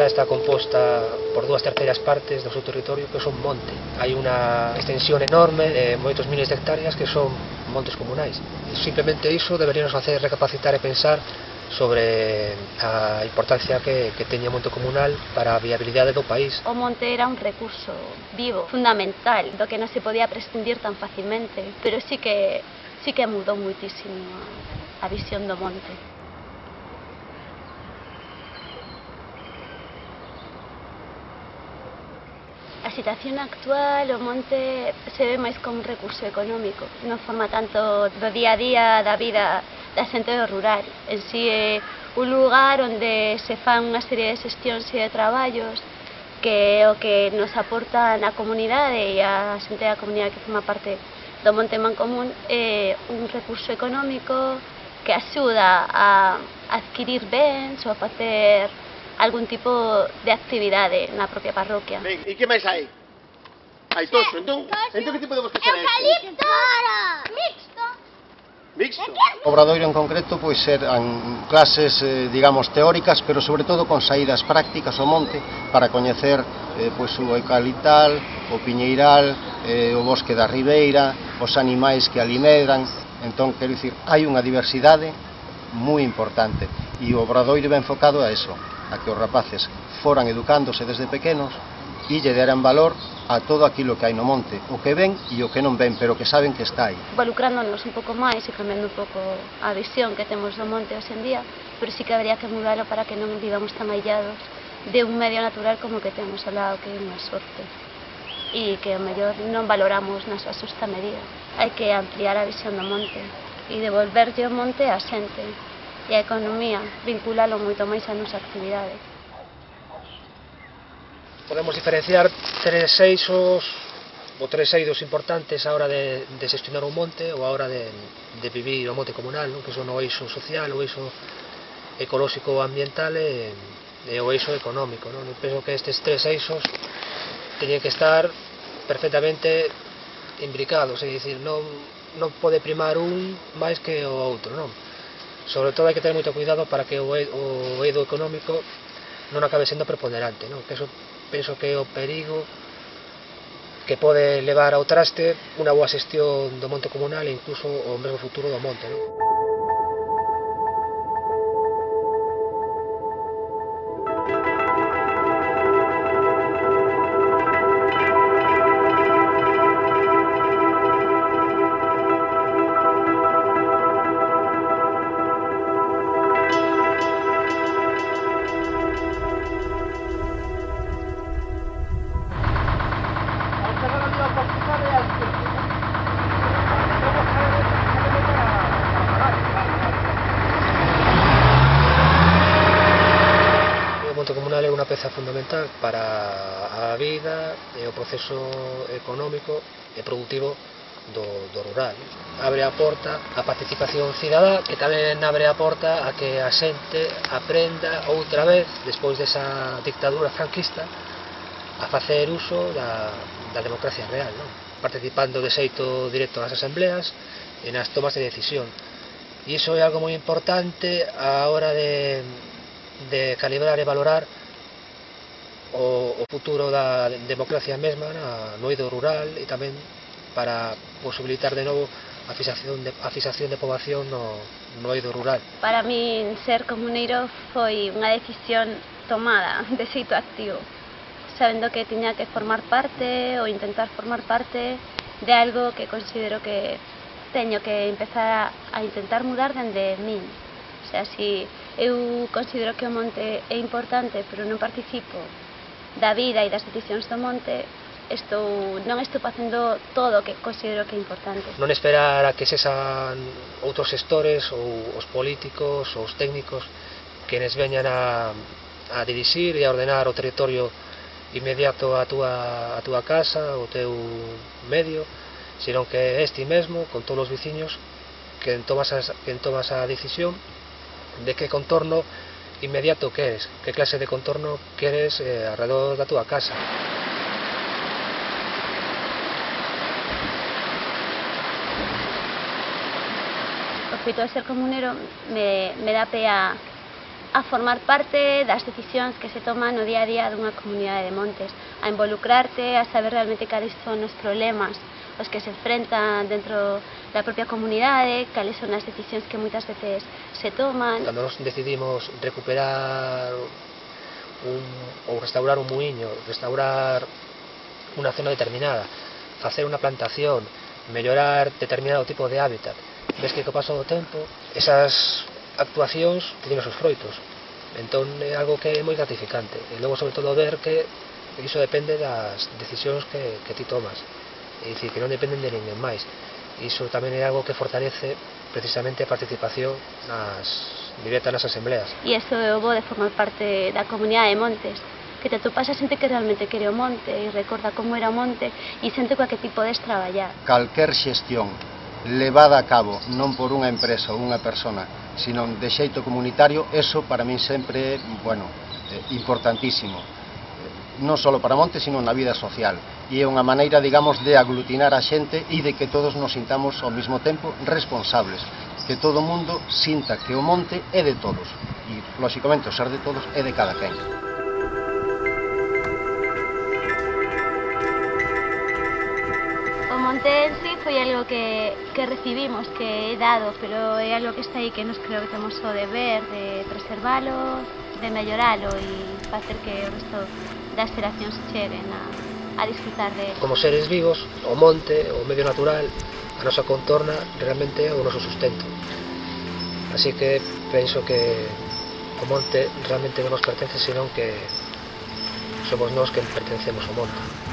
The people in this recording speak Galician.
está composta por 2/3 partes do seu territorio que son monte. Hai unha extensión enorme de moitos miles de hectáreas que son montes comunais. Simplemente iso deberíamos facer recapacitar e pensar sobre a importancia que teña o monte comunal para a viabilidade do país. O monte era un recurso vivo, fundamental, do que non se podía prescindir tan facilmente, pero sí que mudou muitísimo a visión do monte. A situación actual, o monte se ve máis como un recurso económico, non forma tanto do día a día da vida da xente do rural. En si é un lugar onde se fan unha serie de xestións e de traballos que é o que nos aporta na comunidade e a xente da comunidade que forma parte do Monte Mancomún é un recurso económico que axuda a adquirir bens ou a facer algún tipo de actividade na propia parroquia. Ben, e que máis hai? Hai toxo, entón que tipo de bosque será este? Eucalipto! Mixto! Mixto? O obradoiro en concreto pois eran clases, digamos, teóricas, pero sobre todo con saídas prácticas ao monte para coñecer pois o eucaliptal, o piñeiral, o bosque da ribeira, os animais que ali medran. Entón, quero dicir, hai unha diversidade moi importante e o obradoiro ben enfocado a eso, a que os rapaces foran educándose desde pequenos e lle deran valor a todo aquilo que hai no monte, o que ven e o que non ven, pero que saben que está aí. Involucrándonos un pouco máis e cambiando un pouco a visión que temos do monte hoxe en día, pero sí que habría que mudarlo para que non vivamos tan aillados de un medio natural como que temos ao lado, que é unha sorte, e que ao mellor non valoramos na súa xusta medida. Hai que ampliar a visión do monte e devolverlle o monte á xente e a economía, vinculalo moito máis á nosa actividade. Podemos diferenciar tres eixos ou tres eidos importantes a hora de xestionar un monte ou a hora de vivir o monte comunal, non? Que son o eixo social, o eixo ecolóxico ou ambiental e o eixo económico, non? Eu penso que estes tres eixos teñen que estar perfectamente imbricados, é dicir, non pode primar un máis que o outro, non? Sobre todo hai que ter moito cuidado para que o eido económico non acabe sendo preponderante, non? Que eso penso que é o perigo que pode levar ao traste unha boa xestión do monte comunal e incluso o mesmo futuro do monte, non? O monte comunal é unha peza fundamental para a vida e o proceso económico e productivo do rural. Abre a porta a participación cidadá e tamén abre a porta a que a xente aprenda outra vez, despois desa dictadura franquista, a facer uso da democracia real, non? Participando de xeito directo nas asambleas e nas tomas de decisión. E iso é algo moi importante a hora de calibrar e valorar o futuro da democracia mesma no eido rural e tamén para posibilitar de novo a fixación de poboación no eido rural. Para min ser comuneiro foi unha decisión tomada de xeito activo, sabendo que tiña que formar parte ou intentar formar parte de algo que considero que teño que empezar a intentar mudar dende min. O sea, si eu considero que o monte é importante, pero non participo da vida e das decisións do monte, non estou facendo todo o que considero que é importante. Non esperar a que sexan outros xestores ou os políticos ou os técnicos que nos veñan a dirixir e a ordenar o territorio inmediato a túa casa, o teu medio, senón que este mesmo, con todos os veciños, que tomas a decisión de que contorno inmediato queres, que clase de contorno queres alrededor da túa casa. O feito de ser comunero me dá pé a a formar parte das decisións que se toman no día a día dunha comunidade de montes, a involucrarte, a saber realmente cales son os problemas os que se enfrentan dentro da propia comunidade, cales son as decisións que moitas veces se toman. Cando nos decidimos recuperar ou restaurar un muiño, restaurar unha zona determinada, facer unha plantación, mellorar determinado tipo de hábitat, ves que co paso do tempo esas actuacións teñen os seus froitos, entón é algo que é moi gratificante, e logo sobre todo ver que iso depende das decisións que ti tomas, é dicir, que non dependen de ninguén máis. Iso tamén é algo que fortalece precisamente a participación directa nas asembleas. E iso é o bo de formar parte da comunidade de montes, que te atopas a xente que realmente quere o monte e recorda como era o monte e xente coa que ti podes traballar. Calquer xestión levada a cabo non por unha empresa ou unha persona, sino de xeito comunitario, eso para min sempre é, importantísimo. Non só para monte, sino na vida social. E é unha maneira, digamos, de aglutinar a xente e de que todos nos sintamos ao mesmo tempo responsables. Que todo o mundo sinta que o monte é de todos. E, lóxicamente, o ser de todos é de cada quen. O monte en sí foi algo que recibimos, que é dado, pero é algo que está aí que nos creo que temos o deber de preservalo, de melloralo e facer que o resto das xeracións cheguen a disfrutar de él. Como seres vivos, o monte, o medio natural, a nosa contorna realmente é o noso sustento. Así que penso que o monte realmente non nos pertence, senón que somos nós que pertencemos ao monte.